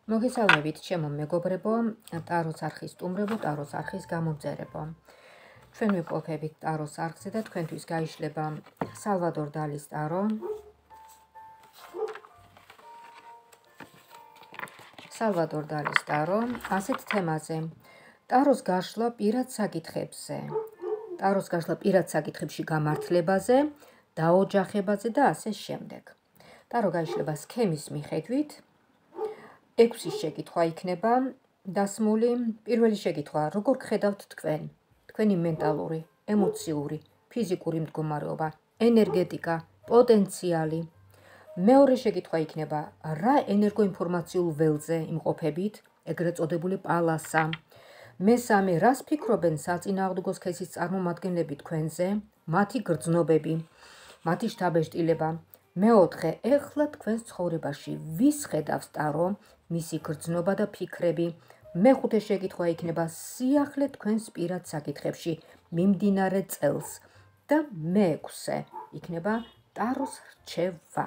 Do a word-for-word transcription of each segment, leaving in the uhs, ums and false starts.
მოგესალმებით, ჩემო მეგობრებო, ტაროს არხის სტუმრებო, ტაროს არხის გამომწერებო. ჩვენ ვიმყოფებით ტაროს არხზე და თქვენთვის გაიშლება სალვადორ დალის ტარო. სალვადორ დალის ტარო ასეთ თემაზე. ტაროს გაშლა პირად საკითხებზე. ტაროს გაშლა პირად საკითხებში გამართლებაზე, დაოჯახებაზე და ასე შემდეგ. ტარო გაიშლება სქემის მიხედვით. ექვსი შეკითხვა იქნება დასმული. პირველი შეკითხვა: როგორ ხედავთ თქვენ, თქვენი მენტალური, ემოციური, ფიზიკური მდგომარეობა, ენერგეტიკა, პოტენციალი? მეორე შეკითხვა იქნება: რა ენერგოინფორმაციულ ველზე იმყოფებით, ეგრეთ წოდებული პალასა? მესამე: რას ფიქრობენ საწინააღმდეგო სქესის წარმომადგენლები თქვენზე, მათი გრძნობები, მათი შთაბეჭდილება? მეოთხე: ეხლა თქვენს ცხოვრებაში ვის ხედავს ტარო, მისი გრძნობა და ფიქრები? მეხუთე შეკითხვა იქნება სიახლე თქვენს პირად საკითხებში მიმდინარე წელს და მეექვსე იქნება ტაროს რჩევა.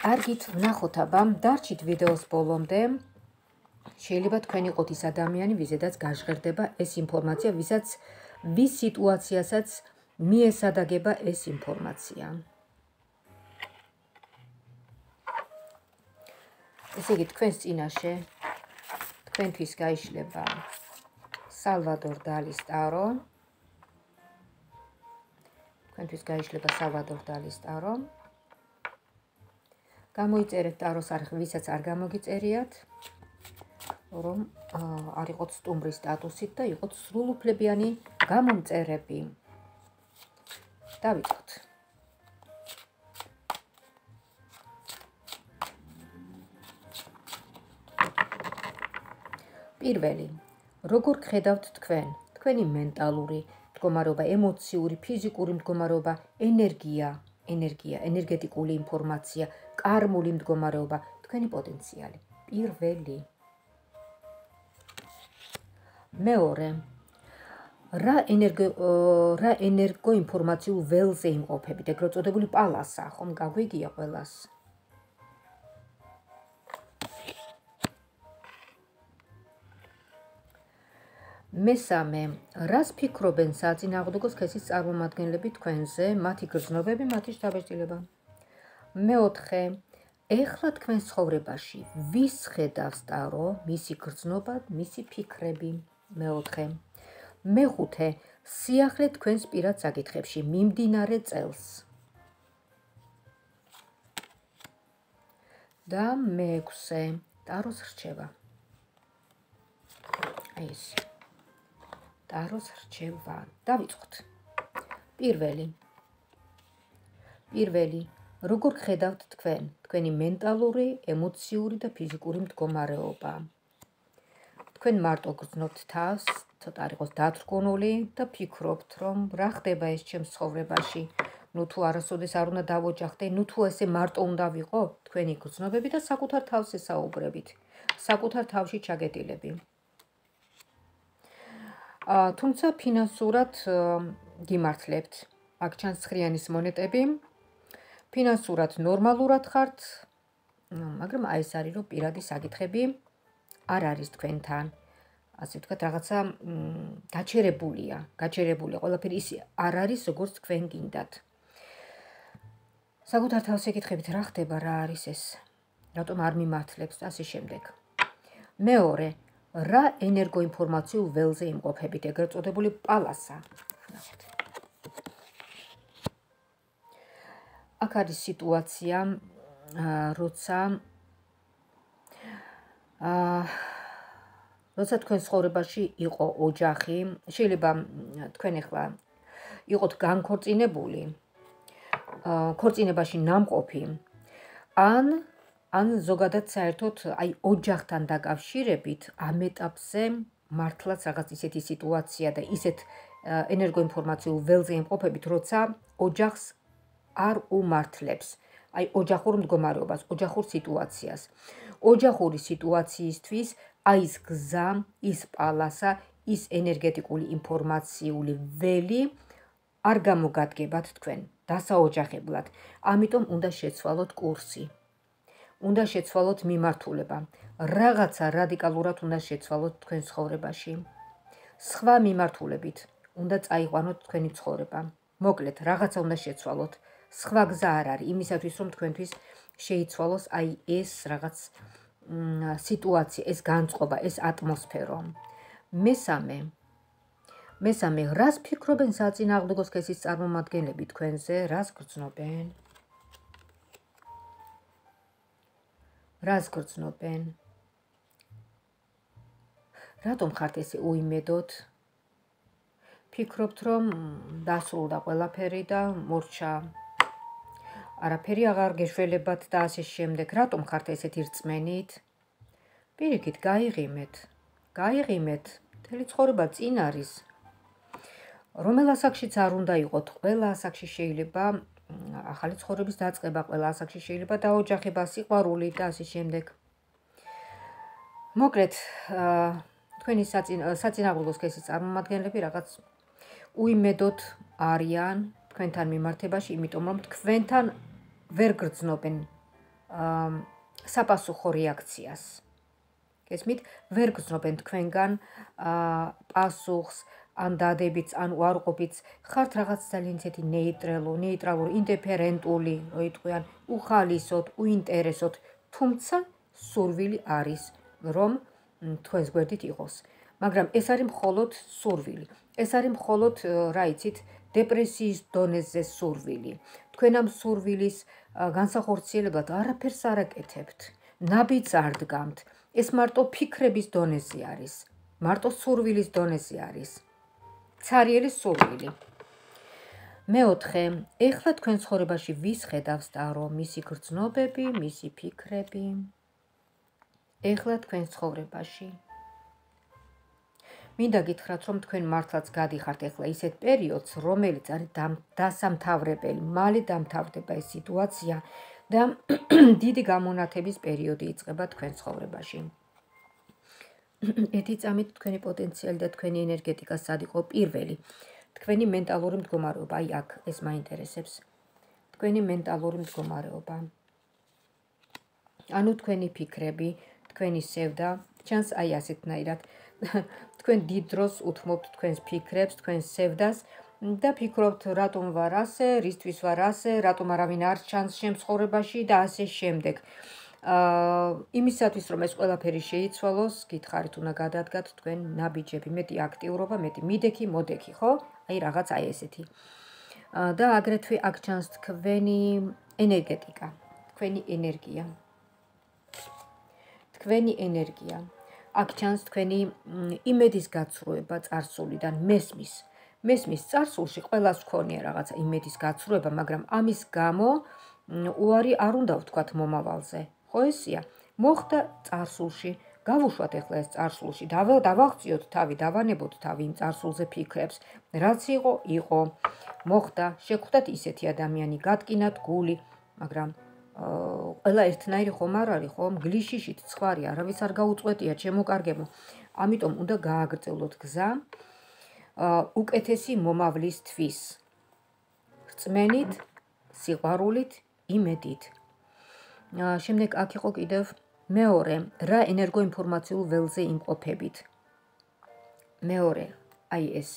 კარგით, ვნახოთ აბა, დარჩით ვიდეოს ბოლომდე. შეიძლება თქვენ იყოთ ის ადამიანი, ვიზედაც გაჟღერდება ეს ინფორმაცია, ვისაც ვის სიტუაციასაც მიესადაგება ეს ინფორმაცია. ესე იგი, თქვენს წინაშე თქვენთვის გაიშლება სალვადორ დალის ტარო. თქვენთვის გაიშლება სალვადორ დალის ტარო. გამოიწერეთ ტაროს არხი, ვისაც არ გამოგიწერიათ, რომ არ იყოთ სტუმრის სტატუსით და იყოთ სრულუფლებიანი გამომწერები. დავიწყოთ. პირველი, როგორ ხედავთ თქვენ, თქვენი მენტალური მდგომარეობა, ემოციური, ფიზიკური მდგომარეობა, ენერგია, ენერგია, ენერგეტიკული ინფორმაცია, კარმული მდგომარეობა, თქვენი პოტენციალი. პირველი. მეორე, რა ენერგო რა ენერგოინფორმაციულ ველზე იმყოფებით, ეგრეთ წოდებული პალასა, ხომ გაგვიგია ყველას? მესამე, რას ფიქრობენ საწინააღმდეგო სქესის წარმომადგენლები თქვენზე, მათი გრძნობები, მათი შთაბეჭდილება? მეოთხე, ეხლა თქვენს ცხოვრებაში ვის ხედავს ტარო, მისი გრძნობა, მისი ფიქრები? მეოთხე. მეხუთე, სიახლე თქვენს პირად საკითხებში მიმდინარე წელს. და მეექვსე, ტაროს რჩევა. აი ეს. ტაროს რჩევა. დავიწყოთ. პირველი. პირველი. როგორ ხედავთ თქვენ, თქვენი მენტალური, ემოციური და ფიზიკური მდგომარეობა? თქვენ მარტო გრძნობთ თავს, ცოტა არ იყოს დათრგუნული და ფიქრობთ, რომ რა ხდება ეს ჩემს ცხოვრებაში? ნუ თუ არასოდეს არ უნდა დავოჯახდე, ნუ თუ ესე მარტო უნდა ვიყო? თქვენი გრძნობები და საკუთარ თავს ესაუბრებით, საკუთარ თავში ჩაგეტილები. თუმცა ფინანსურად გიმართლებთ. აქ ჩანს ცხრიანის მონეტები. ფინანსურად ნორმალურად ხართ, მაგრამ აი ეს არის, რომ პირადი საკითხები არ არის თქვენთან. ასე ვთქვათ, რაღაცა გაჩერებულია, გაჩერებულია, ყველაფერი ის არ არის, როგორც თქვენ გინდათ. საკუთარ თავს ეკითხებით, რა ხდება, რა არის ეს? რატომ არ მიმართლებს და ასე შემდეგ. მეორე, რა ენერგოინფორმაციულ ველზე იმყოფებით, ეგრეთ წოდებული პალასა? აქ არის სიტუაცია, როცა როცა თქვენ ცხოვრებაში იყო ოჯახი, შეიძლება თქვენ ახლა იყოთ განქორწინებული, ქორწინებაში ნამყოფი, ან ან ზოგადად საერთოდ აი ოჯახთან დაკავშირებით ამ ეტაპზე მართლაც რაღაც ისეთი სიტუაცია და ისეთ ენერგოინფორმაციულ ველზე იმყოფებით, როცა ოჯახს არ უმართლებს, აი ოჯახურ მდგომარეობას, ოჯახურ სიტუაციას. ოჯახური სიტუაციისთვის აი ის გზა, ის პალასა, ის ენერგეტიკული ინფორმაციული ველი არ გამოგადგებათ თქვენ დასაოჯახებლად. ამიტომ უნდა შეცვალოთ კურსი. უნდა შეცვალოთ მიმართულება. Რაღაცა რადიკალურად უნდა შეცვალოთ თქვენ ცხოვრებაში. სხვა მიმართულებით უნდა წაიყვანოთ თქვენი ცხოვრება. მოკლედ, რაღაცა უნდა შეცვალოთ. სხვა გზა არ არის იმისათვის, რომ თქვენთვის შეიცვალოს აი ეს რაღაც სიტუაცია, ეს განწყობა, ეს ატმოსფერო. მესამე მესამე, რას ფიქრობენ საწინააღმდეგო სქესის წარმომადგენლები თქვენზე, რას გრძნობენ? რას გრძნობენ? რატომ ხართ ესე უიმედოდ? ფიქრობთ, რომ დასრულდა ყველაფერი და მორჩა. არაფერი აღარ გეშველებათ და ასე შემდეგ. რატომ ხართ ესეთი რწმენით? პირიქით, გაიღიმეთ. გაიღიმეთ. მთელი ცხოვრება წინ არის. რომელ ასაკშიც არ უნდა იყოთ, ყველა ასაკში შეიძლება ახალი ცხოვრების დაწყება, ყველა ასაკში შეიძლება დაოჯახება, სიყვარული და ასე შემდეგ. მოკლედ, თქვენი საწინააღმდეგო სქესის წარმომადგენლები რაღაც უიმედოდ არიან თქვენთან მიმართებაში, იმიტომ რომ თქვენთან ვერ გრძნობენ საპასუხო რეაქციას. გესმით, ვერ გრძნობენ თქვენგან პასუხს, ან დადებიც, ან უარყოფიც, ხართ რაღაც ძალიან ისეთი ნეიტრალურ, ნეიტრალური, ინდიფერენტული, რო იტყვიან, უხალისოდ, უინტერესოდ, თუმცა სურვილი არის, რომ თქვენს გვერდით იყოს. მაგრამ ეს არის მხოლოდ სურვილი. ეს არის მხოლოდ, რა იცით, დეპრესიის დონეზე სურვილი. თქვენ ამ სურვილის განსახორციელებლად არაფერს არ აკეთებთ. ნაბიჯს არ დგამთ. ეს მარტო ფიქრების დონეზე არის. მარტო სურვილის დონეზე არის. ცარიელი სურვილი. მეოთხე, ეხლა თქვენ ცხოვრებაში ვის ხედავს ტარო? მისი გრძნობები, მისი ფიქრები. ეხლა თქვენ ცხოვრებაში. მინდა გითხრათ, რომ თქვენ მართლაც გადიხართ ეხლა ისეთ პერიოდს, რომელიც არის დასამთავრებელი, მალე დამთავრდება ეს სიტუაცია და დიდი გამონათების პერიოდი იწყება თქვენ ცხოვრებაში. ერთი წამით თქვენი პოტენციალი და თქვენი ენერგეტიკა სად იყო პირველი. თქვენი მენტალური მდგომარეობა, აი აქ ეს მაინტერესებს. თქვენი მენტალური მდგომარეობა. ანუ თქვენი ფიქრები, თქვენი სევდა, ჩანს აი ასეთნაირად. თქვენ დიდ დროს უთმობთ თქვენს ფიქრებს, თქვენს სევდას და ფიქრობთ, რატომ ვარ ასე, რისთვის ვარ ასე, რატომ არავინ არ ჩანს ჩემს ცხოვრებაში და ასე შემდეგ. იმისათვის, რომ ეს ყველაფერი შეიცვალოს, გითხარით, უნდა გადადგათ თქვენ ნაბიჯები, მეტი აქტიურობა, მეტი მიდექი, მოდექი, ხო? აი რაღაც აი ესეთი. და აგრეთვე აქ ჩანს თქვენი ენერგეტიკა, თქვენი ენერგია. თქვენი ენერგია. აქ ჩანს თქვენი იმედის გაცრუება წარსულიდან, მესმის. მესმის წარსულში ყველას გქონია რაღაცა იმედის გაცრუება, მაგრამ ამის გამო უარი არ უნდა ვთქვათ მომავალზე. ხო ესია? მოხდა წარსულში, გავუშვათ ეხლა ეს წარსულში, დავაღწიოთ თავი, დავანებოთ თავი იმ წარსულზე ფიქრებს, რაც იყო, იყო. მოხდა, შეგხვდათ ისეთი ადამიანი, გატკინათ გული, მაგრამ ყველა ერთნაირი ხომ არ არის, ხომ? გლიშიშით ცხარი, არავის არ გაუწყვეტია, ჩემო კარგებო. ამიტომ უნდა გააგრძელოთ გზა უკეთესი მომავლისთვის. რწმენით, სიყვარულით, იმედით. შემდეგ აქ იყო კიდევ მეორე, რა ენერგოინფორმაციულ ველზე იმყოფებით. მეორე, აი ეს.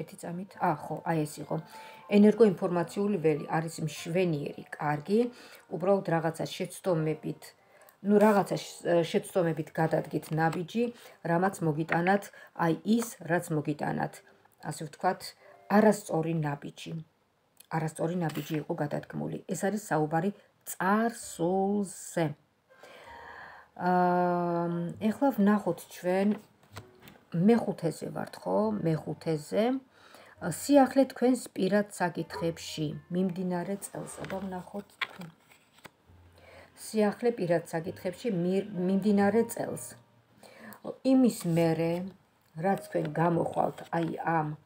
ერთი წამით, ა, ხო, აი ეს იყო. ენერგოინფორმაციული ველი არის მშვენიერი, კარგი, უბრალოდ რაღაცა შეცდომებით, ну რაღაცა შეცდომებით გადადგით ნაბიჯი, რამაც მოგიტანათ, აი ის, რაც მოგიტანათ, ასე ვთქვათ, არასწორი ნაბიჯი. არასწორი ნაბიჯი იყო გადადგმული. ეს არის საუბარი წარსულზე. ეხლა ვნახოთ ჩვენ მეხუთეზე ვართ, ხო? მეხუთეზე. სიახლე თქვენს პირად საკითხებში, მიმდინარე წელს, აბა ვნახოთ თქვენ. სიახლე პირად საკითხებში მიმდინარე წელს. იმის მერე, რაც თქვენ გამოხვალთ აი ამ,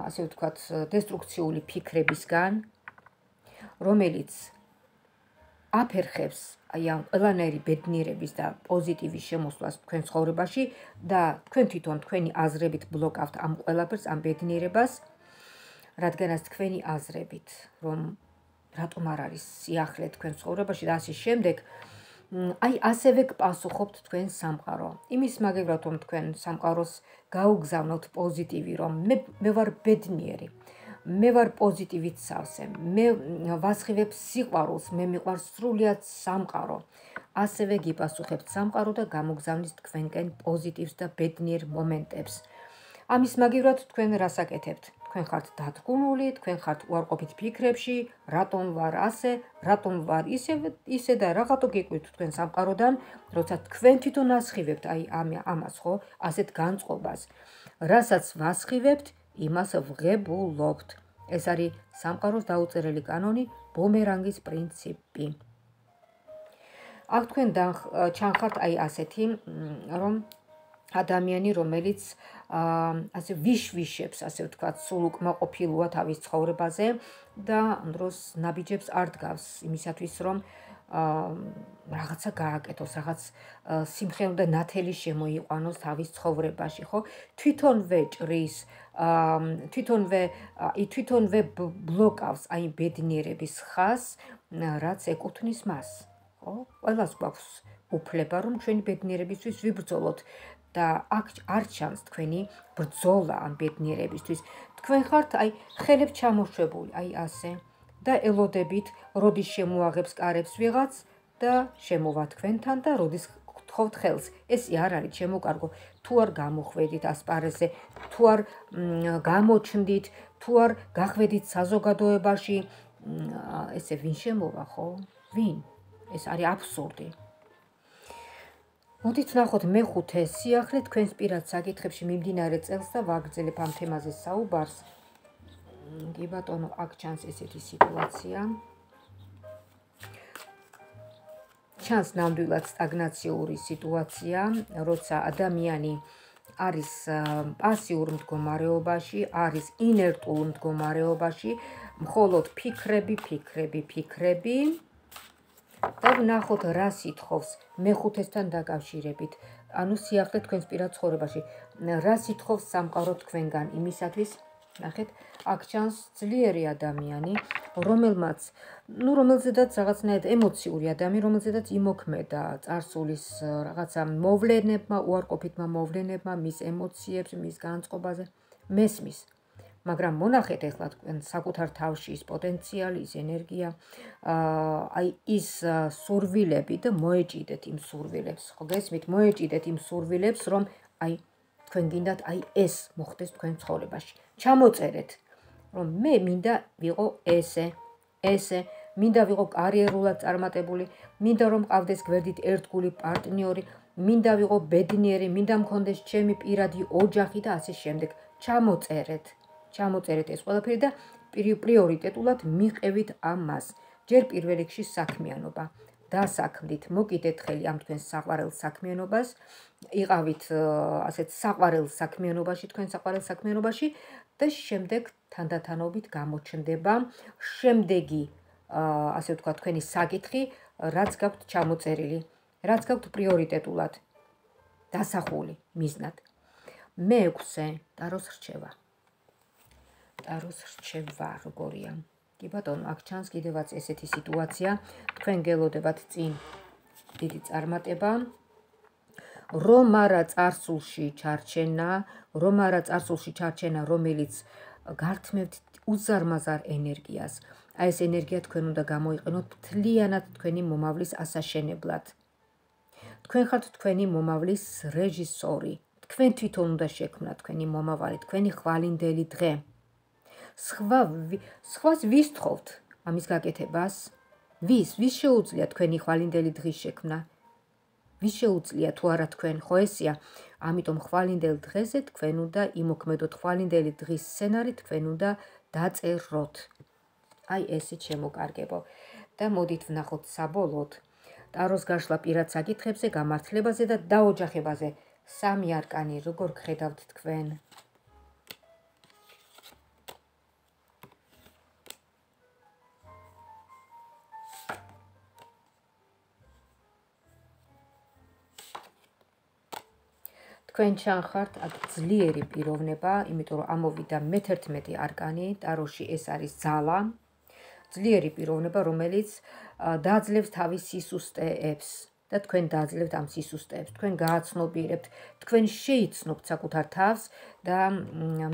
ასე ვთქვათ, დესტრუქციული ფიქრებისგან, რომელიც აფერხებს აი ამ ყველანაირი ბედნიერების და პოზიტივის შემოსვლას თქვენ ცხოვრებაში და თქვენ თვითონ თქვენი აზრებით ბლოკავთ ამ ყველაფერს, ამ ბედნიერებას, რადგანაც თქვენი აზრებით, რომ რატომ არ არის სიახლე თქვენ ცხოვრებაში და ასე შემდეგ. აი ასევე გპასუხობთ თქვენ სამყარო. იმის მაგებრად რომ თქვენ სამყაროს გაუგზავნოთ პოზიტივი, რომ მე მე ვარ ბედნიერი. მე ვარ პოზიტივით სავსე. მე ვასხივებ სიყვარულს, მე მიყვარს სრულიად სამყარო. ასევე გიპასუხებთ სამყარო და გამოგზავნის თქვენკენ პოზიტივს და ბედნიერ მომენტებს. ამის მაგივრად თქვენ რას აკეთებთ? თქვენ ხართ დათგუნული, თქვენ ხართ უარყოფით ფიქრებში, რატომ ვარ ასე, რატომ ვარ ისე ისე და რაღაცა გიყვით თქვენ სამყაროდან, როცა თქვენ თვითონ ასხივებთ აი ამას ხო, ასეთ განწყობას. რასაც ვასხივებთ, იმას ვღებულობთ. ეს არის სამყაროს დაუწერელი კანონი, ბუმერანგის პრინციპი. აქ თქვენ ჩანხართ აი ასეთი, რომ ადამიანი, რომელიც ასე ვიშვიშებს, ასე ვთქვათ, სულ უკმაყოფილოა თავის ცხოვრებაზე და ამ დროს ნაბიჯებს არ დგავს იმისათვის, რომ რაღაცა გააკეთოს, რაღაც სიმხევნე და ნათელი შემოიყვანოს თავის ცხოვრებაში, ხო? თვითონვე ჭრის, თვითონვე თვითონვე ბლოკავს აი ბედნიერების ხაზს, რაც ეკუთვნის მას, ხო? ყველას გვაქვს უფლება, რომ ჩვენი ბედნიერებისთვის ვიბრძოლოთ. და აქ არ ჩანს თქვენი ბრძოლა ამ ბედნიერებისთვის. თქვენ ხართ აი ხელებს ჩამოშვებული, აი ასე და ელოდებით, როდის შემოაღებს კარებს ვიღაც და შემოვა თქვენთან და როდის გთხოვთ ხელს. ესე არ არის შემოკარგო. თუ არ გამოხვედით ასპარეზზე, თუ არ გამოჩნდით, თუ არ გახვედით საზოგადოებაში, ესე ვინ შემოვა, ხო? ვინ? ეს არის აბსურდი. მოდით ვნახოთ მეხუთე სიახლე თქვენს პირად საკითხებში მიმდინარე წელს და ვაგრძელებ ამ თემაზე საუბარს. კი ბატონო, აქ ჩანს ესეთი სიტუაცია. ჩანს ნამდვილად სტაგნაციური სიტუაცია, როცა ადამიანი არის პასიურ მდგომარეობაში, არის ინერტულ მდგომარეობაში, მხოლოდ ფიქრები, ფიქრები, ფიქრები. და ვნახოთ რა სითხოვს მეხუთესთან დაკავშირებით, ანუ სიახლე თქვენს პირად ცხოვრებაში, რა სითხოვს სამყარო თქვენგან იმისათვის, ნახეთ, აქ ჩანს ძლიერი ადამიანი, რომელმაც, ну, რომელზედაც რაღაცნაირად ემოციური ადამიანი, რომელზედაც იმოქმედა წარსულის რაღაცა მოვლენებმა, უარყოფითმა მოვლენებმა, მის ემოციებს, მის განწყობაზე, მესმის. მაგრამ მონახეთ ეხლა თქვენ საკუთარ თავში ის პოტენციალი, ის ენერგია, აი ის სურვილები და მოეჭიდეთ იმ სურვილებს, ხო გესმით, მოეჭიდეთ იმ სურვილებს, რომ აი თქვენ გინდათ აი ეს მოხდეს თქვენ ცხოვრებაში. ჩამოწერეთ, რომ მე მინდა ვიყო ესე, ესე, მინდა ვიყო კარიერულად წარმატებული, მინდა რომ მყავდეს გვერდით ერთგული პარტნიორი, მინდა ვიყო ბედნიერი, მინდა მქონდეს ჩემი პირადი ოჯახი და ასე შემდეგ. ჩამოწერეთ. ჩამოწერეთ ეს ყველაფერი და პრიორიტეტულად მიყევით ამას. ჯერ პირველ რიგში საქმიანობა. დასაქმდით, მოკიდეთ ხელი ამ თქვენს საყვარელ საქმიანობას, იყავით ასეთ საყვარელ საქმიანობაში, თქვენ საყვარელ საქმიანობაში და შემდეგ თანდათანობით გამოჩნდება შემდეგი, ასე ვთქვათ, თქვენი საკითხი, რაც გაქვთ ჩამოწერილი, რაც გაქვთ პრიორიტეტულად დასახული მიზნად. მეექვსე, ტაროს რჩევა. ტაროს რჩევა როგორია? კი ბატონო, აქ ჩანს კიდევაც ესეთი სიტუაცია, თქვენ გელოდებათ წინ დიდი წარმატება, რომ არა წარსულში ჩარჩენა, რომ არა წარსულში ჩარჩენა, რომელიც გართმევთ უზარმაზარ ენერგიას. აი ეს ენერგია თქვენ უნდა გამოიყენოთ მთლიანად თქვენი მომავლის ასაშენებლად. თქვენ ხართ თქვენი მომავლის რეჟისორი. თქვენ თვითონ უნდა შექმნათ თქვენი მომავალი, თქვენი ხვალინდელი დღე. სხვა სხვას ვის თხოვთ ამის გაკეთებას? ვის? ვის შეუძლია თქვენი ხვალინდელი დღის შექმნა? ვის შეუძლია თუ არა თქვენ, ხო ესია? ამიტომ ხვალინდელ დღეზე თქვენ უნდა იმოქმედოთ ხვალინდელი დღის სცენარი, თქვენ უნდა დაწეროთ. აი ესე შემოკარგებო. და მოდით ვნახოთ საბოლოოდ ტაროს გაშლა პირად საკითხებზე, გამართლებაზე და დაოჯახებაზე. სამი არკანი როგორ გხედავთ თქვენ? თქვენ ჩანხართ აქ ძლიერი პიროვნება, იმიტომ რომ ამოვიდა მეთერთმეტე არკანი, ტაროში ეს არის ძალა. ძლიერი პიროვნება, რომელიც დაძლევს თავის სისუსტეებს და თქვენ დაძლევთ ამ სისუსტეებს. თქვენ გააცნობიერებთ, თქვენ შეიცნობთ საკუთარ თავს და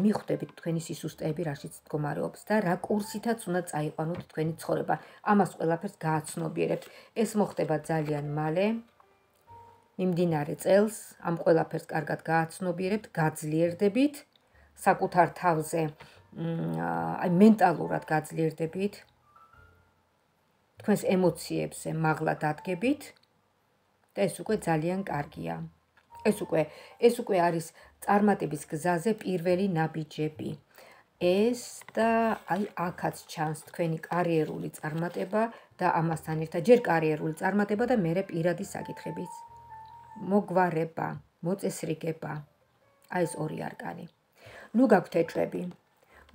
მიხვდებით თქვენი სისუსტეები რაშიც მდგომარეობს და რა კურსითაც უნდა წაიყვანოთ თქვენი ცხოვრება. ამას ყველაფერს გააცნობიერებთ. ეს მოხდება ძალიან მალე. მიმდინარე წელს ამ ყველაფერს კარგად გააცნობიერებთ, გაძლიერდებით საკუთარ თავზე, აი მენტალურად გაძლიერდებით. თქვენს ემოციებზე მაღლა დადგებით და ეს უკვე ძალიან კარგია. ეს უკვე ეს უკვე არის წარმატების გზაზე პირველი ნაბიჯები. ეს და აი აქაც ჩანს თქვენი კარიერული წარმატება და ამასთან ერთად ჯერ კარიერული წარმატება და მერე პირადი საკითხების მოგვარება, მოწესრიგება. აი ეს ორი არკანი. ნუ გაქვთ ეჭვები.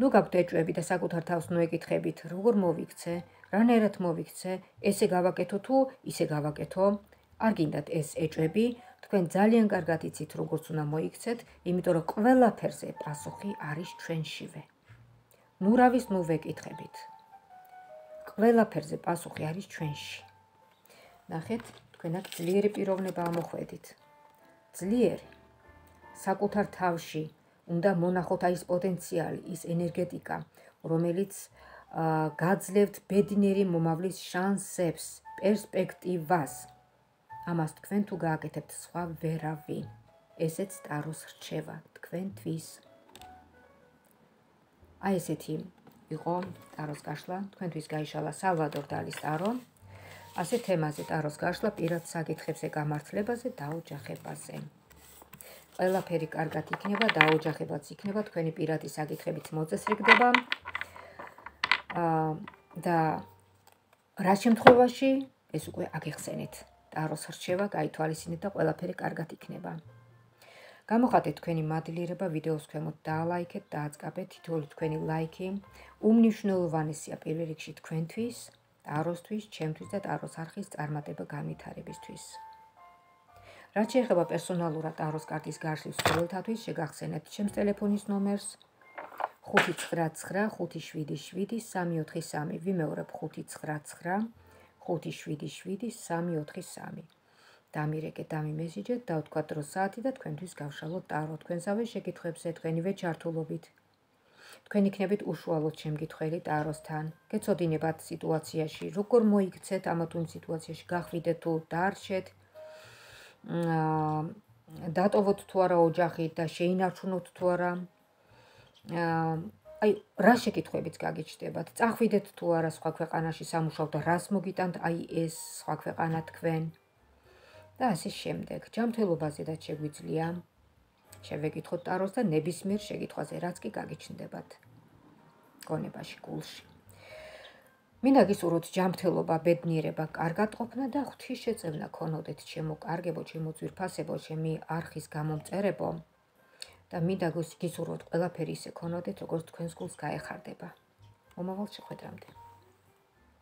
ნუ გაქვთ ეჭვები და საკუთარ თავს ნუ ეკითხებით, როგორ მოვიქცე, რანაირად მოვიქცე, ესე გავაკეთო თუ ისე გავაკეთო. არ გინდათ ეს ეჭვები, თქვენ ძალიან კარგად იცით როგორც უნდა მოიქცეთ, იმიტომ რომ ყველაფერზე პასუხი არის ჩვენშივე. ნუ რავის ნუ ვეკითხებით. ყველაფერზე პასუხი არის ჩვენში. ნახეთ, თქვენ აქ ძლიერი პიროვნება ამოხვედით. ძლიერი. საკუთარ თავში უნდა მონახოთ აი ეს პოტენციალი, ის ენერგეტიკა, რომელიც გაძლევთ ბედნიერი მომავლის შანსებს, პერსპექტივას. ამას თქვენ თუ გააკეთებთ, სხვა ვერავინ. ესეც ტაროს რჩევა თქვენთვის. აი ესეთი იყო ტაროს გაშლა, თქვენთვის გაიშალა სალვადორ დალის ტარო. ასე თემაზე ტაროს გაშლა, პირად საკითხებზე, გამართლებაზე და ოჯახებაზე. ყველაფერი კარგად იქნება და ოჯახებაც იქნება, თქვენი პირადი საკითხებიც მოწესრიგდება. და რა შემთხვევაში ეს უკვე აგიხსენეთ. ტაროს რჩევა გაითვალისწინეთ და ყველაფერი კარგად იქნება. გამოხატეთ თქვენი მადლიერება ვიდეოს ქვემოთ, დაალაიქეთ, დააწყაბეთ. თითოეული თქვენი ლაიქი უმნიშვნელოვანესია პირველ რიგში თქვენთვის, ტაროსთვის, ჩემთვის და ტაროს არხის წარმატება განვითარებისთვის. რაც შეეხება პერსონალურად ტაროს კარტის გაშლის მსურველთათვის, შეგახსენებთ ჩემს ტელეფონის ნომერს ხუთი ცხრა ცხრა ხუთი შვიდი შვიდი სამი ოთხი სამი. ვიმეორებ ხუთი ცხრა ცხრა ხუთი შვიდი შვიდი სამი ოთხი სამი. დამირეკეთ, დამიმესიჯეთ, დავთქვათ დრო საათი და თქვენთვის გავშალოთ ტარო. თქვენსავე შეკითხვებზე, თქვენივე ჩართულობით. თქვენ იქნებით უშუალოდ შემკითხველი ტაროსთან. გეცოდინებათ სიტუაციაში, როგორ მოიქცეთ ამა თუ იმ სიტუაციაში, გახვიდეთ თუ დაარჩეთ. დატოვოთ თუ არა ოჯახი და შეინარჩუნოთ თუ არა. აი რა შეკითხვებიც გაგიჩნდებათ, წახვიდეთ თუ არა სხვა ქვეყანაში სამუშაოდ და რას მოგიტანთ აი ეს სხვა ქვეყანა თქვენ და ასე შემდეგ. ჯანმრთელობაზედაც შეგვიძლია შევეკითხოთ ტაროს და ნებისმიერ შეკითხვაზე, რაც კი გაგიჩნდებათ გონებაში, გულში. მინდა გისურვოთ ჯანმრთელობა, ბედნიერება, კარგად ყოფნა და ღვთისშეწევნა ქონოდეთ ჩემო კარგებო, ჩემო ძვირფასებო, ჩემი არხის გამომწერებო. და მინდა გისურვოთ ყველაფერი ისე ქონოდეთ, როგორც თქვენს გულს გაეხარდება. მომავალ შეხვედრამდე.